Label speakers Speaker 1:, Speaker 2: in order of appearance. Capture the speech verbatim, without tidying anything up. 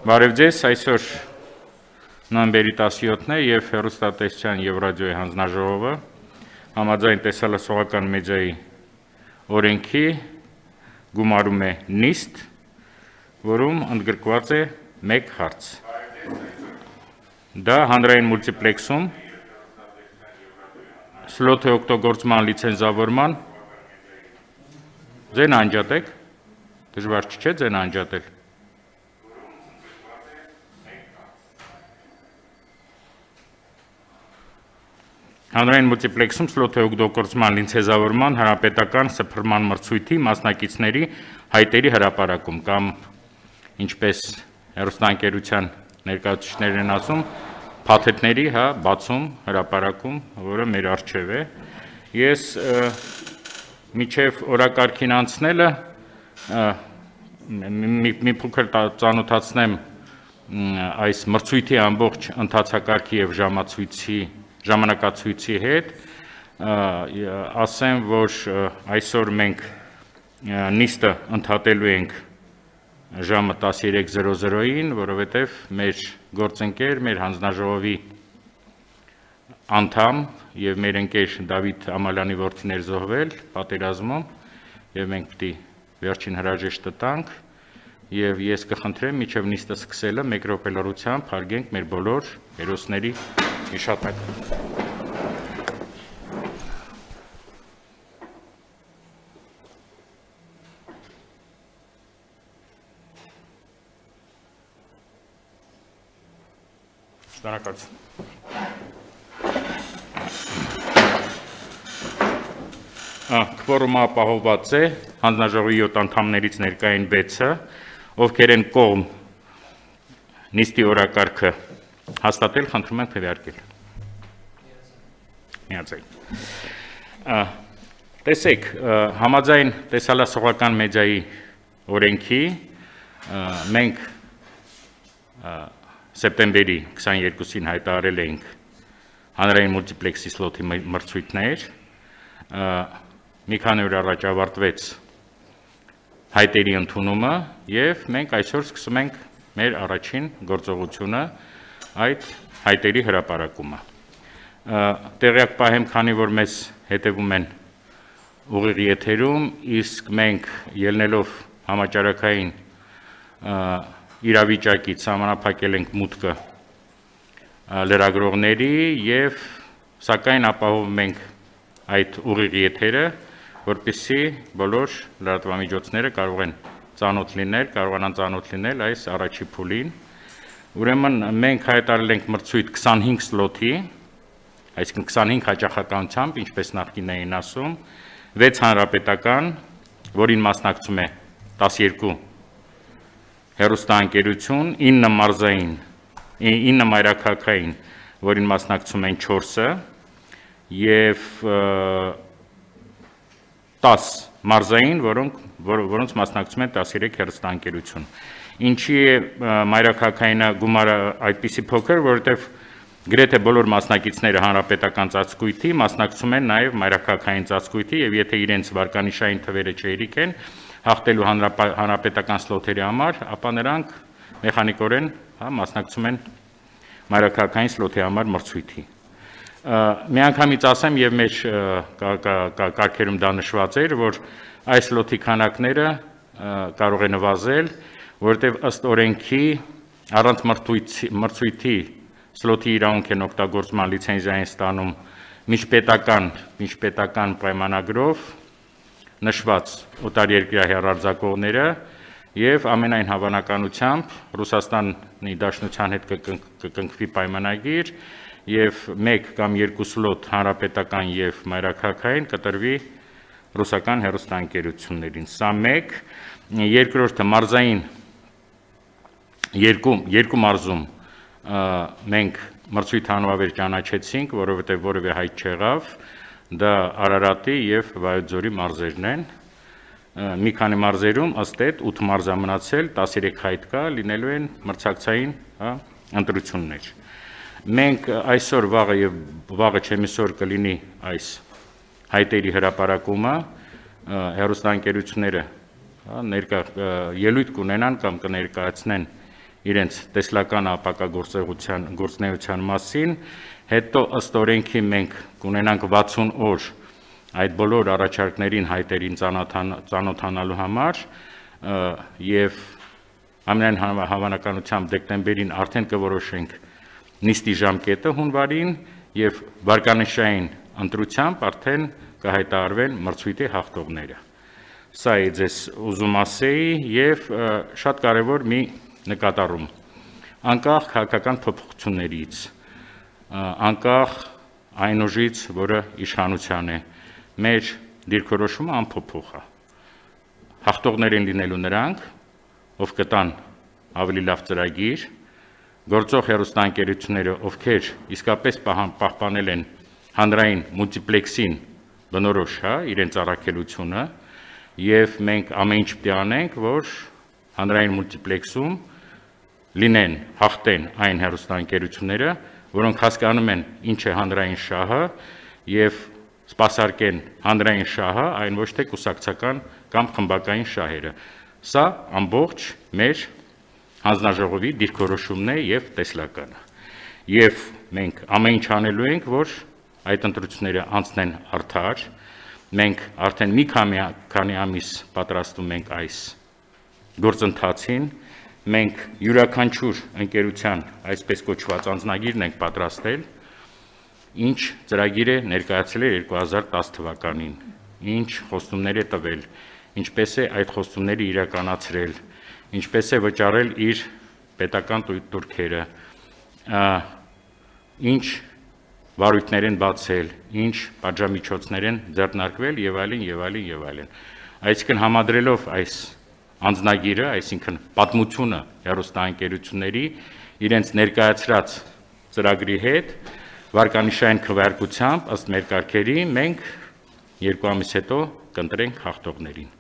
Speaker 1: Բարև ձեզ, այսօր նոյեմբերի տասնյոթն է և հեռուստատեսության և ռադիոյի հանձնաժողովը համաձայն տեսահոլովակական մեդիայի օրենքի գումարում է նիստ, որում ընդգրկված է մեկ հարց։ Դա հանրային մուլտիպլեքսում սլոթի օգտագործման լիցենզավորման ձեն անջատեք, դժվար չէ ձեն անջատել։ Հանրային մուլտիպլեքսում սլոթի օգտագործման լիցենզավորման հանրապետական սփռման մրցույթի մասնակիցների հայտերի հրապարակում կամ ինչպես հեռուստաընկերության ներկայացուցիչներն են ասում, փաթեթների հա բացում հրապարակում, որը մեր առջև է։ Ես միջև օրակարգին անցնելը մի փոքր ծանոթացնեմ այս մրցույթի ամբողջ ընթացակարգի և ժամացույցի ժամանակացույցի հետ, ասեմ, որ այսօր մենք նիստը ընդհատելու ենք ժամը տասնյոթ զրո զրոյին, որովհետև մեր գործընկեր, մեր հանձնաժողովի անդամ և մեր ընկեր Դավիթ Ամալյանի որդին էր զոհվել պատերազմում, և մենք պիտի վերջին հրաժեշտը տանք, և ես կխնդրեմ մինչև նիստը սկսելը մեկ րոպե լռությամբ հարգենք մեր բոլոր հերոսների հիշատակը։ Շնորհակալություն։ Քվորումը ապահովված է, հանձնաժողովի յոթ անդամներից ներկա են վեցը, ովքեր են կողմ նիստի օրակարգը հաստատել, խնդրում ենք քվեարկել։ Միացեք։ Տեսեք, համաձայն տեսահոլովակական մեդիայի օրենքի մենք սեպտեմբերի քսաներկուսին հայտարարել էինք հանրային մուլտիպլեքսի սլոթի մրցույթներ, մի քանի օր առաջ ավարտվեց հայտերի ընդունումը և մենք այսօր սկսում ենք մեր առաջին գործողությունը այդ հայտերի հրապարակումը։ Տեղյակ պահեմ, քանի որ մեզ հետևում են ուղիղ եթերում, իսկ մենք ելնելով համաճարակային իրավիճակից սահմանափակել ենք մուտքը լրագրողների և սակայն ապահովում ենք այդ ուղիղ եթերը, որպեսզի բոլոր լրատվամիջոցները կարող են ծանոթ լինել, կարողանան ծանոթ լինել այս առաջի փուլին։ Ուրեմն մենք հայտարարել ենք մրցույթ քսանհինգ սլոթի, այսինքն քսանհինգ հաճախականությամբ, ինչպես նախկին էին ասում, վեց հանրապետական, որին մասնակցում է տասնյոթ հեռուստաընկերություն, ինը մարզային, ինը մայրաքաղաքային, որին մասնակցում են չորսը, և տաս մարզային, որոնց մասնակցում են տասնյոթ հեռուստաընկերություն։ Ինչի է մայրաքաղաքայինը գումարը այդպիսի փոքր, որովհետև գրեթե բոլոր մասնակիցները հանրապետական ծածկույթի մասնակցում են նաև մայրաքաղաքային ծածկույթի և եթե իրենց վարկանիշային թվերը չհերիք են հաղթելու հանրապետական սլոթերի համար, ապա նրանք մեխանիկորեն մասնակցում են մայրաքաղաքային սլոթի համար մրցույթի։ Միանգամից ասեմ և մեր կարգերում դա նշված էր, որ այս սլոթի քանակները կարող է նվազել, որովհետև ըստ օրենքի առանց մրցույթի սլոթի իրավունք են օգտագործման լիցենզիա են ստանում միջպետական պայմանագրով նշված օտարերկրյա հեռարձակողները և ամենայն հավանականությամբ Ռուսաստանի Դաշնության հետ կկնքվի պայմանագիր և մեկ կամ երկու սլոթ հանրապետական և մայրաքաղաքային կտրվի ռուսական հեռուստաընկերություններին։ Սա մեկ, երկրորդը մարզային երկու մարզում մենք մրցույթ անվավեր ճանաչեցինք, որովհետև որևէ հայտ չեղավ, դա Արարատի և Վայոց ձորի մարզերն են։ Մի քանի մարզերում ըստ էդ ութ մարզ է մնացել, տասնյոթ հայտ կա, լինելու են մրցակցային ընտրություններ։ Մենք այսօր վաղը և վաղը չեմիսօր կլինի այս հայտերի հրապարակումը, հեռուստաընկերությունները ելույթ կունենան կամ կներկայացնեն իրենց տեսլական ապակագործողության գործնեության մասին, հետո ըստ օրենքի մենք կունենանք վաթսուն օր այդ բոլոր առաջարկներին հայտերին ծանոթանալու համար եւ ամենայն հավանականությամբ դեկտեմբերին արդեն կորոշենք նիստի ժամկետը հունվարին եւ վարկանիշային ընտրությամբ արդեն կհայտարարվեն մրցույթի հաղթողները։ Սա է ձեզ ուզում ասեի եւ շատ կարեւոր մի նկատառում։ Անկախ քաղաքական փոփոխություններից, անկախ այն ուժից, որը իշխանության է, մեր դիրքորոշումը անփոփոխ է։ Հաղթողներ են լինելու նրանք, ով կտան ավելի լավ ծրագիր, գործող հեռուստաընկերությունները, ովքեր իսկապես պահպանել են հանրային մուլտիպլեքսին բնորոշ, հա, իրենց առաքելությունը, եւ մենք ամեն ինչ պետք է անենք, որ հանրային մուլտիպլեքսում լինեն, հաղթեն այն հեռուստաընկերությունները, որոնք հասկանում են ինչ է հանրային շահը եւ սպասարկեն հանրային շահը, այն ոչ թե կուսակցական կամ խմբակային շահերը։ Սա ամբողջ մեր հանձնաժողովի դիրքորոշումն է եւ տեսլականը։ Եվ մենք ամեն ինչ անելու ենք, որ այդ ընտրությունները անցնեն արդար։ Մենք արդեն մի քանի ամիս պատրաստում ենք այս գործընթացին։ Մենք յուրաքանչյուր ընկերության այսպես կոչված անձնագիրն ենք պատրաստել, ինչ ծրագիր է ներկայացել երկու հազար տասը թվականին, ինչ խոստումներ է տվել, ինչպես է այդ խոստումները իրականացրել, ինչպես է վճարել իր պետական տուրքերը, ինչ վարույթներ են բացել, ինչ պատժամիջոցներ են ձեռնարկվել եւ այլն եւ այլն եւ այլն։ Այսինքն համադրելով այս անձնագիրը, այսինքն պատմությունը հեռուստաընկերությունների իրենց ներկայացրած ծրագրի հետ վարկանիշային քվեարկությամբ ըստ մեր կարգերի մենք երկու ամիս հետո կընտրենք հաղթողներին։